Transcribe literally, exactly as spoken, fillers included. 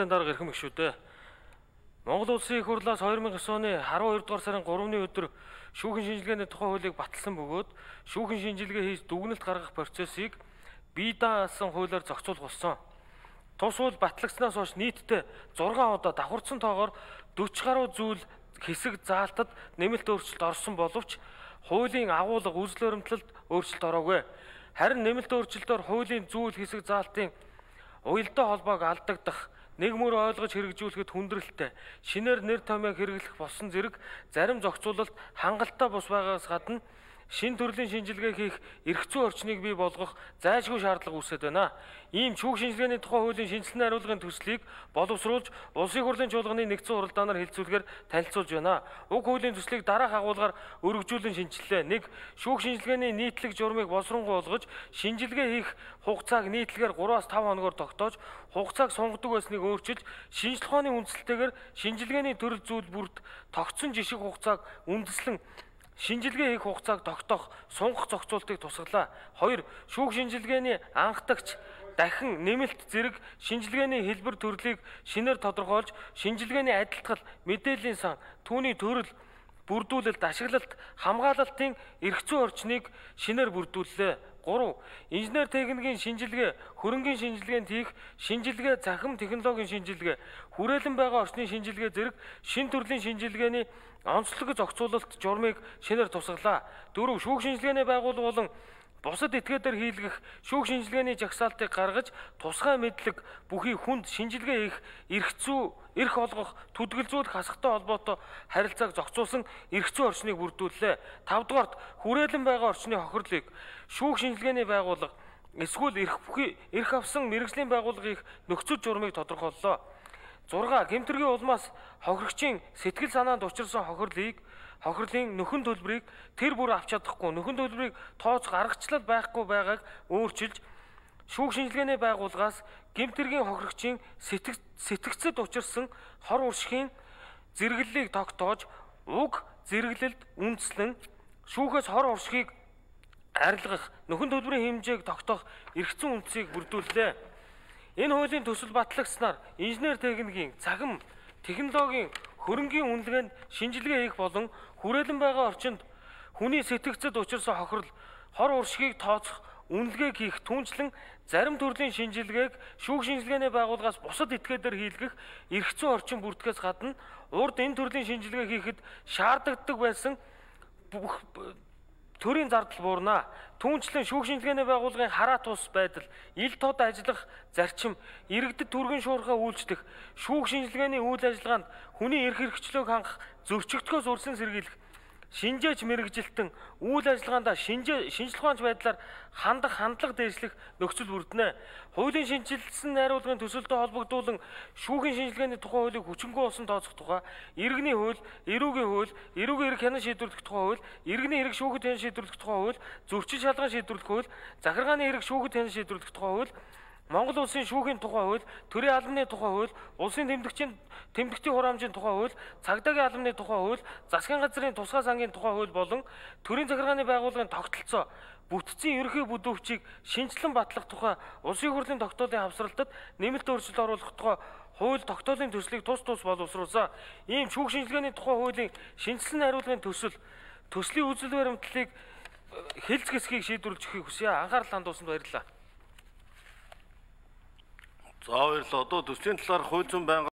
дарга ирэх мэг шүү дээ. Монгол Улсын их хурлаас хоёр мянган девь оны арван хоёр дугаар сарын гуравны өдөр шүүхэн шинжилгээний тухай хуулийг баталсан бөгөөд шүүхэн шинжилгээ хийж дүгнэлт гаргах процессыг бие даасан хуулиар зохицуулах болсон. Тус хууль батлагдсанаас хойш нийтдээ зургаан удаа давхарцсан тоогоор дөрвөн гаруй зүйл хэсэг заалтад нэмэлт өөрчлөлт орсон боловч хуулийн агуулга үзэл баримтлалд өөрчлөлт ороогүй. Харин нэмэлт өөрчлөлтөөр хуулийн зүйл хэсэг заалтын уялдаа холбоог алдагдах, нэг мөр ойлгож хэрэгжүүлэхэд хүндрэлтэй, шинээр нэр томьёог хэрэглэх болсон зэрэг зарим зохицуулалт хангалттай бус байгаас гадна шин төрлийн шинжилгээ хийх эрх зүйн орчныг бий болгох зайлшгүй шаардлага үүсэж байна. Ийм шүүх шинжилгээний тухай хуулийн шинжилгээ хариулгын төслийг боловсруулж Улсын хурлын чуулганы нэгдсэн хуралдаанаар хэлэлцүүлэхээр танилцуулж байна. Уг хуулийн төслийг дараах агуулгаар өргөжүүлэн шинжиллээ. нэг Шүүх шинжилгээний нийтлэг журмыг боловсронгуй болгож шинжилгээ хийх хугацааг нийтлэгээр гураваас тавь хоногоор тогтоож хугацааг сунгадаг байсныг өөрчилж шинжилгээ ухааны үндсэлтэйгээр шинжилгээний төрөл зүйл бүрд тогтсон жишг хугацааг үндэслэн шинжилгээ хийх хугацааг тогтоох сунгах зохицуултыг тусгалаа. хоёр Шүүх шинжилгээний анхдагч дахин нэмэлт зэрэг шинжилгээний хэлбэр төрлийг шинээр тодорхойлж шинжилгээний адилтгал, мэдээллийн сан, түүний төрөл, бүрдүүлэлт, ашиглалт, хамгаалалтын эрх зүйн орчныг шинээр бүрдүүллээ. гурав Инженер техникийн шинжилгээ, хөрөнгийн шинжилгээнд хийх шинжилгээ, захим технологийн шинжилгээ, хүрээлэн байгаа орчны шинжилгээ зэрэг шин төрлийн шинжилгээний онцлог зохицуулалт журмыг шинээр тусгалаа. дөрөв Шүүх шинжилгээний байгууллага болон бусад этгээдээр хийлгэх шүүх шинжилгээний жагсаалтыг гаргаж тусгай мэдлэг бүхий хүнд шинжилгээ хийх эрх зүй, эрх олгох, түдгэлзүүлэх хасахтай холбоотой харилцааг зохицуулсан эрх зүйн орчныг бүрдүүллээ. тавдугаарт хүрээлэн байгаа орчны хохирлыг шүүх шинжилгээний байгууллага эсвэл эрх бүхий эрх авсан мэргэжлийн байгууллага их нөхцөл журмыг тодорхойллоо. зурга Гэмтэргийн улмаас хохирогчийн сэтгэл санаанд учирсан хохирлыг хохирлын нөхөн төлбөрийг тэр бүр авч чадахгүй, нөхөн төлбөрийг тооц гаргачлал байхгүй байгааг өөрчилж шүүх шинжилгээний байгууллагаас Гэмтэргийн хохирогчийн сэтгцэд учирсан хор уршигын зэрэглэлийг тогтоож уг зэрэглэлд үндэслэн шүүхээс хор уршигыг арилгах, нөхөн төлбөрийн хэмжээг тогтоох эрх зүйн үндсийг бүрдүүллээ. Энэ хуулийн төсөл батлагдсанаар инженер техникийн, захим технологийн, хөрөнгийн үнэлгээнд шинжилгээ хийх болон хүрээлэн байгаа орчинд хүний сэтгцэд учирсан хохирол, хор уршигыг тооцох, үнэлгээг хийх түүнчлэн зарим төрлийн шинжилгээг шүүх шинжилгээний байгууллагаас бусад этгээдээр хийлгэх эрх зүйн орчин бүртгэхээс гадна урд энэ төрлийн шинжилгээ хийхэд шаарддаг байсан бүх төрийн зардал буурна. Түүнчлэн шүүх шинжилгээний байгууллагын хараа тус байдал, ил тод ажиллах зарчим, иргэдэд түргэн шуурхаа үйлчлэх, шүүх шинжилгээний үйл ажиллагаанд хүний эрх хэрэгчлөөг хангах зөрчигдөхөөс үрсэн сэргийлэх, шинжээч мэрэгжилтэн үйл ажиллагаанд шинжээ шинжлэх ухаанч байдлаар хандах хандлага дээшлэх нөхцөл бүрдэнэ. Хуулийн шинжилсэн найруулгын төсөлтөд холбогдуулан шүүхийн шинжилгээний тухай хуулийг хүчингүй болсон тооцох тухай, иргэний хууль, эрүүгийн хууль, эрүүгийн эрх хянан шийдвэрлэх тухай хууль, иргэний эрх шүүхэд хянан шийдвэрлэх тухай хууль, зөрчин шалган шийдвэрлэх хууль, захиргааны эрх шүүхэд хянан шийдвэрлэх тухай хууль, Монгол улсын шүүхийн тухай хууль, төрийн албаны тухай хууль, улсын тэмдэгчийн тэмдэгтийн хураамжийн тухай хууль, цагдаагийн албаны тухай хууль, засгийн газрын тусгай сангийн тухай хууль болон төрийн захиргааны байгууллагын тогтолцоо, бүтцийн ерөнхий бүдүүвчийг шинжилэн батлах тухай улсын хурлын тогтоолын хавсралтад нэмэлт өөрчлөлт оруулах тухай хууль тогтоолын төслийг тус тус боловсруулсан. Ийм шүүх шинжилгээний тухай хуулийн шинжилсэн хариулгын төсөл, төслийн үзэл баримтлалыг хэлц хэсгийг шийдвэрлэж өгөхийг хүсье. Анхаарал хандуулсанд баярлалаа. За баярлалаа. Одоо төслийн талаар хууль зүйн байнга